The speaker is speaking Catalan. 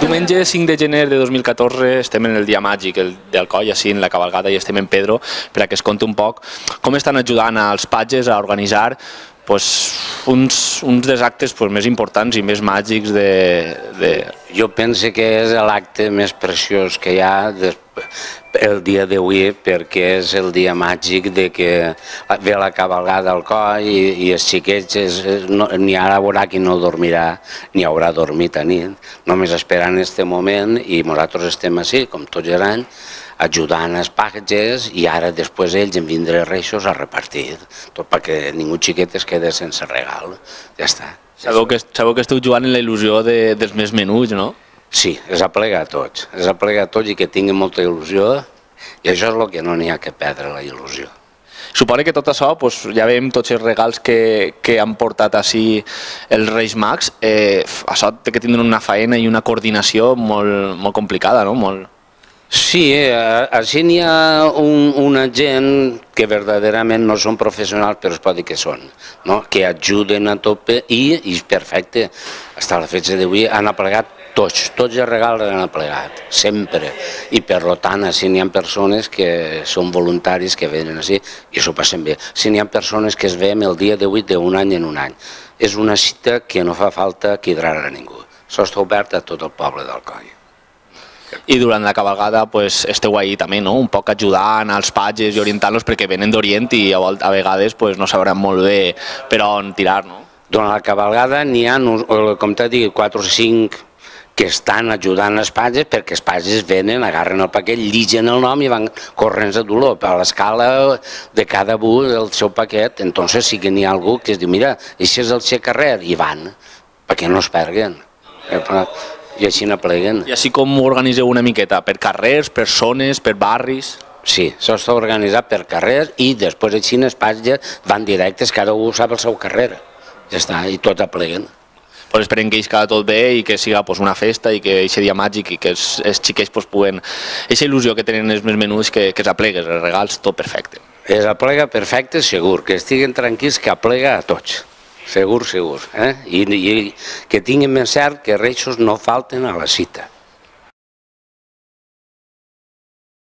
Diumenge 5 de gener de 2014 estem en el dia màgic d'Alcoi, així en la cabalgada, i estem en Pedro per a que es conti un poc com estan ajudant als patges a organitzar uns dels actes més importants i més màgics Jo penso que és l'acte més preciós que hi ha el dia d'avui, perquè és el dia màgic de que ve la cabalgada al coll i els xiquets n'hi haurà qui no dormirà ni haurà dormit a nit, només esperant aquest moment, i nosaltres estem així, com tots els anys, ajudant els patges, i ara després ells en vindré reixos a repartir, tot perquè ningú xiquet es quede sense regal, ja està. Sabeu que esteu jugant en la il·lusió dels més menuts, no? Sí, és aplegar a tots, i que tinguin molta il·lusió, i això és el que no n'hi ha que perdre, la il·lusió. Suposo que tot això, ja veiem tots els regals que han portat així els Reis Mags, això té que tindre una faena i una coordinació molt complicada, no? Sí, així n'hi ha una gent que verdaderament no són professionals, però es pot dir que són, que ajuden a tope i és perfecte. Fins a la festa d'avui han aplegat tots els regals han aplegat, sempre. I per tant, així n'hi ha persones que són voluntaris que venen així i s'ho passen bé. Si n'hi ha persones que es veiem el dia d'avui d'un any en un any. És una cita que no fa falta quidrar a ningú. Això està obert a tot el poble d'Alcoi. I durant la cabalgada esteu ahí també, no? Un poc ajudant als patges i orientant-los perquè venen d'Orient i a vegades no sabran molt bé per on tirar, no? Durant la cabalgada n'hi ha, com t'he dit, 4 o 5 que estan ajudant els patges, perquè els patges venen, agarren el paquet, lligen el nom i van corrents a dolor a l'escala de cada un del seu paquet. Entonces sí que n'hi ha algú que es diu, mira, això és el seu carrer, i van, perquè no es perguen. I així n'apleguen. I així com ho organitzeu una miqueta? Per carrers, per zones, per barris? Sí, això està organitzat per carrers i després així els patges van directes, cada un sap el seu carrer. Ja està, i tot apleguen. Esperem que cada tot bé i que siga una festa i que aquest dia màgic i que els xiquets puguen... Aquesta il·lusió que tenen els més menuts, que s'apleguen, els regals, tot perfecte. Es aplega perfecte, segur, que estiguen tranquils, que aplega a tots. Segur. I que tinguin ben cert que reixos no falten a la cita.